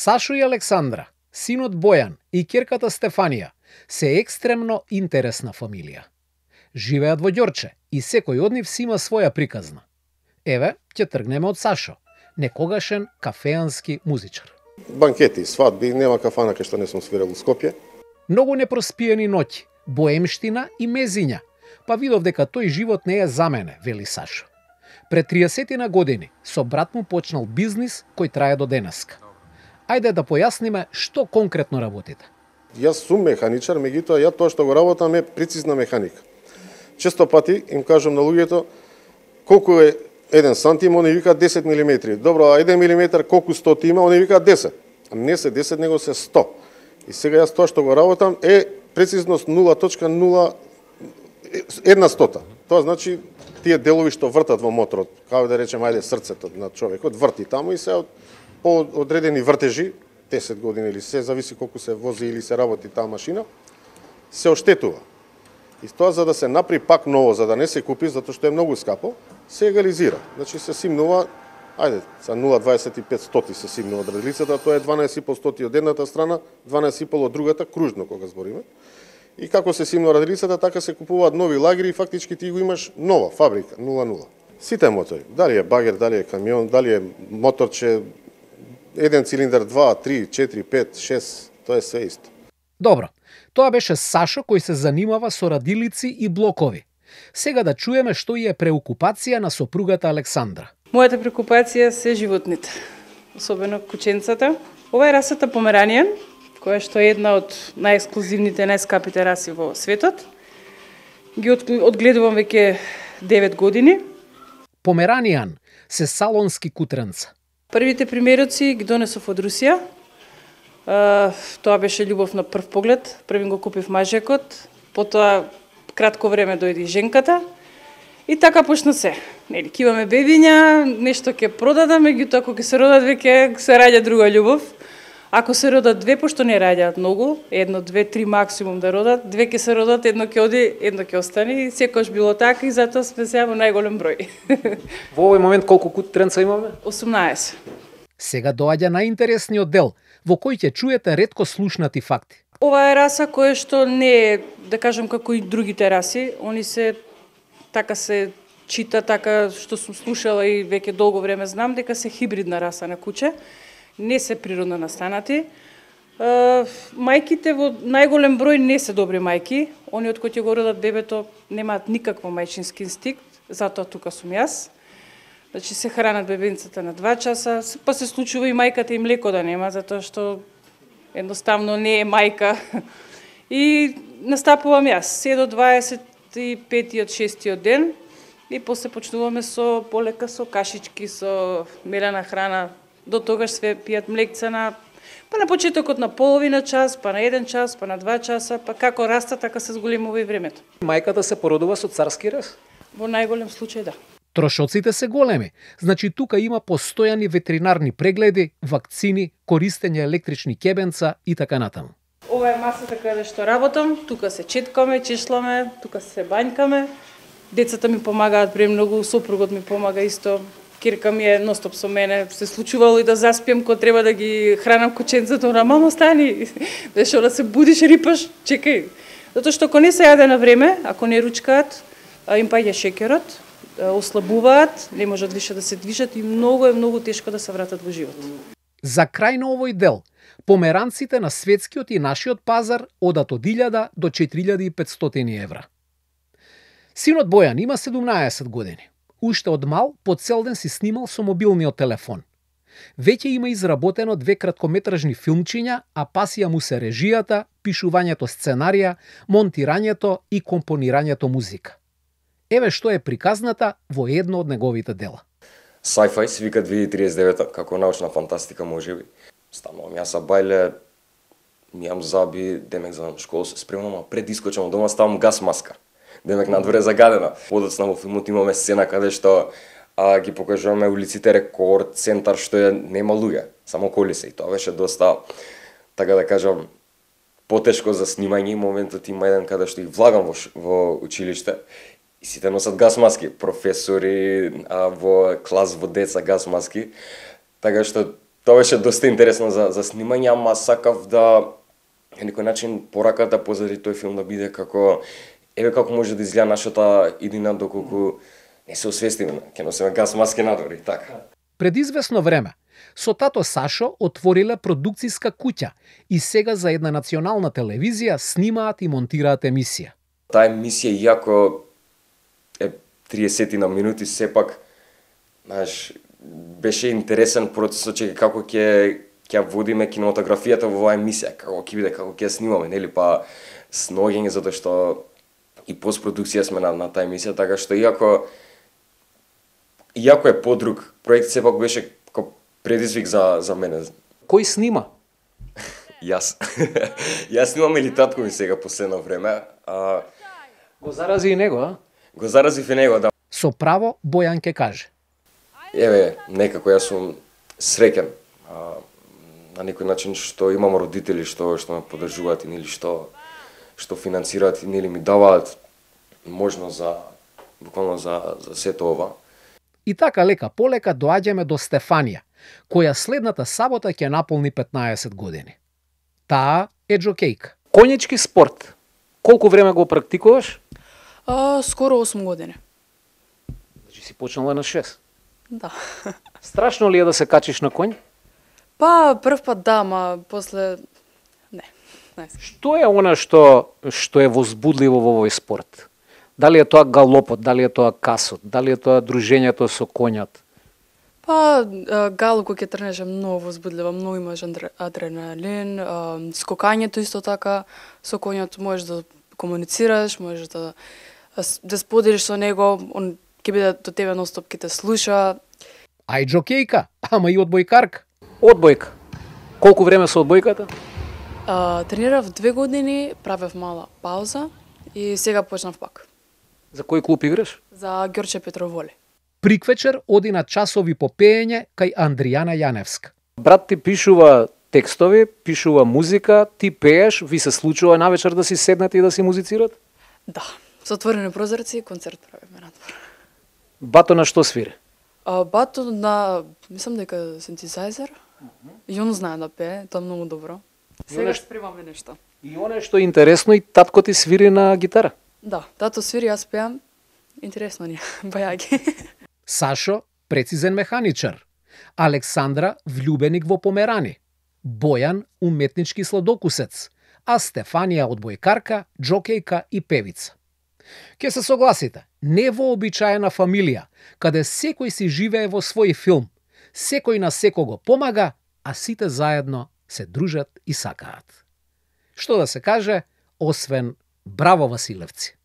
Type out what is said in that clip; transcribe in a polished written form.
Сашо и Александра, синот Бојан и ќерката Стефанија се екстремно интересна фамилија. Живеат во Ѓорче и секој од нив си има своја приказна. Еве, ќе тргнеме од Сашо, некогашен кафеански музичар. Банкети, свадби, нема кафана кај што не сум свирел у Скопје. Многу непроспиени ноќи, боемштина и мезиња, па видов дека тој живот не е за мене, вели Сашо. Пред 30 години со брат му почнал бизнис кој трае до денеска. Ајде да појасниме што конкретно работите. Јас сум механичар, меѓутоа ја тоа што го работам е прецизна механика. Често пати им кажам на луѓето колку е 1 сантим, они викаат 10 милиметри. Добро, а 1 милиметар колку стоти има, они викаат 10. А не се 10, него се 100. И сега јас тоа што го работам е прецизност 0.01. Тоа значи тие делови што вртат во моторот, како да речем, ајде срцето на човекот, врти таму и се по одредени вртежи, 10 години или се зависи колку се вози или се работи таа машина, се оштетува. И тоа за да се направи пак ново, за да не се купи, затоа што е многу скапо, се егализира. Значи се симнува, ајде, за 0,25 се симнува од раделицата, тоа е 12,5 стоти од едната страна, 12,5 од другата, кружно кога збориме. И како се симнува раделицата, така се купуваат нови лагери и фактички ти го имаш нова фабрика, 0,0. Сите мотори, дали е багер, дали е камион, дали е моторче, еден цилиндар, 2, 3, 4, 5, 6, тоа е све исто. Добро, тоа беше Сашо кој се занимава со радилици и блокови. Сега да чуеме што е преокупација на сопругата Александра. Мојата преокупација се животните, особено кученцата. Ова е расата Померанијан, која што е една од најексклузивните, најскапите раси во светот. Ги одгледувам веќе 9 години. Померанијан се салонски кутренца. Првите примероци ги донесов од Русија. Тоа беше љубов на прв поглед. Првин го купив мажекот, потоа кратко време дојде женката и така почна се. Нели, ќе имаме бебиња, нешто ќе продадам, меѓутоа ако ќе се родат веќе се раѓа друга љубов. Ако се родат две, пошто не раѓаат многу, 1, 2, 3 максимум да родат, две ќе се родат, едно ќе оди, едно ќе остане и секогаш било така и затоа сме сега во најголем број. Во овој момент колку кутренца имаме? 18. Сега доаѓа најинтересниот дел, во кој ќе чуете ретко слушнати факти. Ова е раса која што не е, да кажам, како и другите раси, они се така се чита, така што сум слушала и веќе долго време знам дека се хибридна раса на куче. Не се природно настанати. Мајките во најголем број не се добри мајки. Они од кои ќе го родат бебето немаат никакво мајчински инстинкт, затоа тука сум јас. Значи се хранат бебенцата на 2 часа, па се случува и мајката и млеко да нема, затоа што едноставно не е мајка. И настапувам јас, се до 25-тиот, 6-тиот ден и после почнуваме со полека со кашички, со мелена храна. До тогаш све пијат млекца па на почетокот на половина час, па на 1 час, па на 2 часа, па како раста, така се зголемува и времето. Мајката се породува со царски рез? Во најголем случај да. Трошоците се големи, значи тука има постојани ветеринарни прегледи, вакцини, користење електрични кебенца и така натаму. Ова е масата каде што работам, тука се четкаме, чешламе, тука се бањкаме. Децата ми помагаат премногу, сопругот ми помага исто. Кирка ми е ностоп со мене, се случувало и да заспием кога треба да ги хранам кученцата, она мамо стани, дешо да се будиш, рипаш, чекај. Затоа што ако не се јаде на време, ако не ручкаат, им паѓа шеќерот, ослабуваат, не можат више да се движат и многу тешко да се вратат во живот. За крај на овој дел, померанците на светскиот и нашиот пазар одат од 1000 до 4500 евра. Синот Бојан има 17 години. Уште од мал, по цел ден си снимал со мобилниот телефон. Веќе има изработено 2 краткометражни филмчиња, а пасија му се режијата, пишувањето сценарија, монтирањето и компонирањето музика. Еве што е приказната во едно од неговите дела. Sci-fi се вика 2039 како научна фантастика можеби. Станувам јас бајле, мијам заби, демек за школа се спремам, а пред искочам од дома ставам гас маска. Демек надвор е загадена. Подоцна во филмот имаме сцена каде што ги покажуваме улиците Рекорд, центар што нема луѓе, само коли се. И тоа беше доста, така да кажам, потешко за снимање. Моментот има еден каде што их влагам во училиште и сите носат гас маски, професори, во клас во деца гас маски. Така што Тоа беше доста интересно за снимање, ама сакав да на некој начин пораката позади тој филм да биде како како може да изгледа нашата иднина доколку не се освестиме, ќе носиме гас маски надвор и така. Пред известно време, со тато Сашо отвориле продукциска куќа и сега за една национална телевизија снимаат и монтираат емисија. Таа емисија иако е 30 на минути, сепак знаеш, беше интересен процесот че како ќе водиме кинематографијата во оваа емисија, како ќе биде, како ќе снимаме, нели, па сноѓење затоа што и постпродукција сме на таа емисија, така што иако е подруг проект, сепак беше како предизвик за мене. Кој снима? Јас. Јас снимам или татко ми сега последно време. Го зарази и него, а? Го заразив и него, да. Со право Бојан ке каже. Некако јас сум среќен. На некој начин што имам родители што ме поддржуваат и нели што финансираат и нели ми даваат можност буквално за сето ова. И така лека полека доаѓаме до Стефанија, која следната сабота ќе наполни 15 години. Таа е џокејка. Конјички спорт. Колку време го практикуваш? Скоро 8 години. Значи си почнала на 6. Да. Страшно ли е да се качиш на конј? Па прв пат да, ма после не. Што е она што е возбудливо во овој спорт? Дали е тоа галопот, дали е тоа касот, дали е тоа дружењето со коњот? Па галоп кога ќе тренеш е многу возбудливо, многу имаш адреналин, скокањето исто така, со коњот можеш да комуницираш, можеш да споделиш со него, он ќе биде до тебе ностоп, ќе те слуша. Ај џокејка, ама и одбојкарка. Одбојка. Колку време со одбојката? Тренирав 2 години, правев мала пауза и сега почнав пак. За кој клуб играш? За Ѓорче Петроволи. Приквечер оди на часови по пеење кај Андријана Јаневска. Брат ти пишува текстови, пишува музика, ти пееш, ви се случува навечер да си седнете и да си музицират? Да, со отворени прозорци концерт правиме надвор. Бато на што свири? Бато на, мислам дека синтезајзер. И он знае да пее, тоа многу добро. Сега спремаме нешто. И оно што е интересно, и татко ти свири на гитара. Да, тато свири, јас пеам. Интересно ни, бајаги. Сашо, прецизен механичар. Александра, влюбеник во померани. Бојан, уметнички сладокусец. А Стефанија, одбојкарка, џокејка и певица. Ке се согласите, невообичаена фамилија, каде секој си живее во свој филм, секој на секого помага, а сите заедно се дружат и сакаат. Што да се каже, освен браво Василевци.